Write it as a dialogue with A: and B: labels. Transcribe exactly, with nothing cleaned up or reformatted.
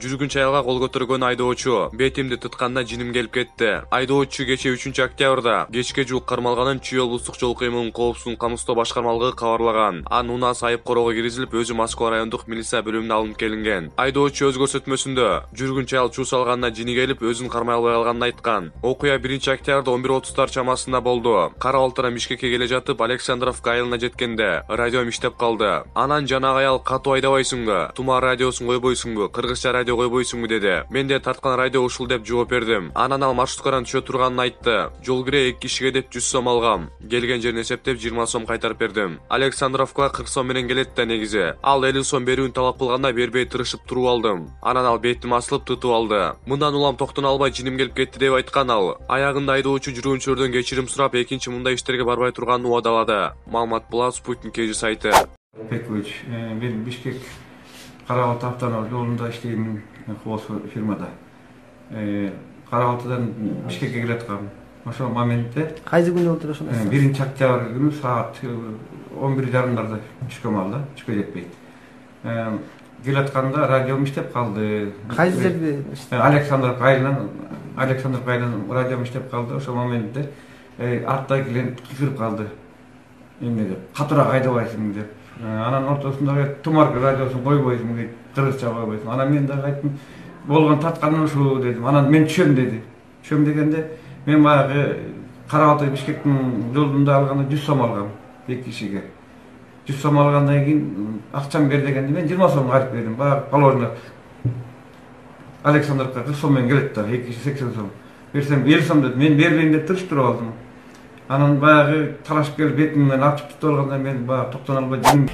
A: Жүргүнчү аялга кол көтөргөн айдоочу бетимди тытканда жиним келип кетти. Айдоочу кечээ үчүнчү октябрда кечке жуук кармалганын Чүй облустук жол кыймылын коопсуздугун камсыздоо башкармалыгы кабарлаган. Анын унаасы айып короого киргизилип, өзү Москва райондук милиция бөлүмүнө алынып келинген. Айдоочу өз көрсөтмөсүндө жүргүнчү аял чуу салганына жини келип, өзүн кармай албай калганын айткан. Окуя биринчи октябрда он бир отуздар чамасында болду. Кара Балтырдан Бишкекке келе жатып, Александровка айылына жеткенде радиом иштеп калды. Анан жанагы аял катуу айдабайсыңбы? Тума радиосун койбойсуңбу? Кыргызча радио койбойсуңбу деди. Мен де тарткан радио ушул деп жооп бердим. Анан ал маршруткадан түшө турганын айтты. Жол кире эки кишиге деп жүз сом алгам. Келген жерин эсептеп жыйырма сом кайтарып бердим. Александровка кырк сом менен келет да негизи. Ал элүү сом берүүнү талап кылганда бербей тырышып туруп алдым. Анан ал бетим асылып тытып алды. Мындан улам токтоно албай жиним келип кетти деп айткан ал. Аягында айдоочу жүргүнчүлөрдөн кечирим сурап, экинчи мындай иштерге барбай турганын убадалады. Маалымат Булат, Спутник кежи сайты.
B: Пекович, мен Бишкек Кара Балты автономдук жолунда иштейм, Хос фирмада. Кара Балтыдан Бишкекке келаткам. Ошол моментте
C: кайсы күнү болду ошол?
B: биринчи октябрь күнү саат он бир жарымдарда түшкөм алда, түшкө жетпейт. Келатканда радиом иштеп калды.
C: Кайсы жерде?
B: Александровка айылынан, Александровка айылынан радиом иштеп калды. Ошол моментте артта клиент кыйкырып калды. Эмне деп, катуураак айдабайсың деп. Анан ортосунда Тумар радиосун койбойсуң дейт, кыргызча койбойсуң. Анан мен дагы айттым, болгон татканым ушул дедим. Анан мен түшөм деди. Түшөм дегенде мен баягы Кара Балты Бишкектин жолунда алганда жүз сом алгам эки кишиге. жүз сом алгандан кийин акчам бер дегенде мен жыйырма сом кайтып бердим. Баягы положено Александровка кырк сом менен келет да, эки киши сексен сом. Берсем элүү сом деди. Мен бербейм деп туруштуруп алдым. Анан баягы талашып келип бетимден ачып тутуп алганда мен баягы токтоно албай жиним